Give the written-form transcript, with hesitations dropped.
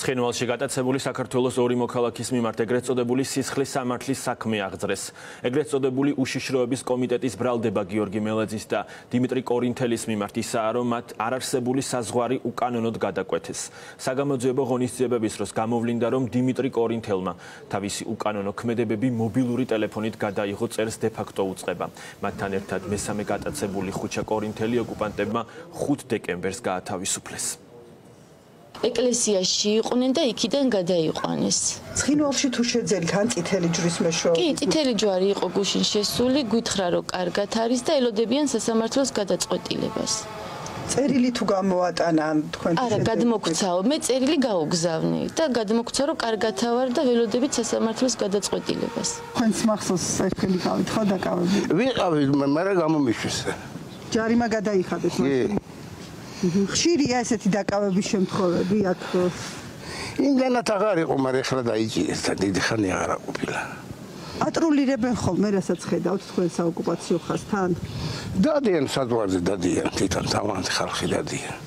ცხინვალში გატაცებული საქართველოს ორი მოქალაქის მიმართ ეგრეთ წოდებული სისხლის სამართლის საქმე აღძრეს. ეგრეთ წოდებული უშიშროების კომიტეტის ბრალდება გიორგი მელაძის და დიმიტრი კორინთელის მიმართ ისაა, რომ მათ არარსებული საზღვარი უკანონოდ გადაკვეთეს. საგამოძიებო ღონისძიებების დროს გამოვლინდა, რომ დიმიტრი კორინთელმა თავისი უკანონო ქმედებები მობილური ტელეფონით გადაიღო, წერს დე-ფაქტო უწყება. მათთან ერთად მესამე გატაცებული ხუჩა კორინთელი ოკუპანტებმა 5 დეკემბერს გაათავისუფლეს. ეკლესიაში იყვნენ და იქიდან გადაიყვანეს. ცხინვალში თუ შეძელით ან წითელი ჯვრის მეშვეობით? კი, წითელი ჯვარი იყო გუშინ შესული, გითხრა რომ კარგად არის და ელოდებიან სასამართლოს გადაწყვეტილებას. წერილი თუ გამოატანა თქვენ? არა, გადმოგცაო, მე წერილი გაუგზავნე და გადმოგცა რომ კარგად ვარ და ველოდებით სასამართლოს გადაწყვეტილებას. თქვენს მახსოვს საერთოდ გავითხო დაკავები? ვიყავი, მაგრამ გამომიშვეს. ჯარიმა გადაიხადეთ მაშინ? ხშირია ესეთი დაკავების შემთხვევები აქ? იმდანაც აღარ იყო, მაგრამ ეხლა დაიჭირეს და დიდი ხანი აღარ ყოფილა. ატრულირებენ ხოლმე, რასაც ხედავთ თქვენ საოკუპაციო ხაზთან? დადიან საზღვარზე, დადიან, თვითონ თავიანთი ხალხი დადიან.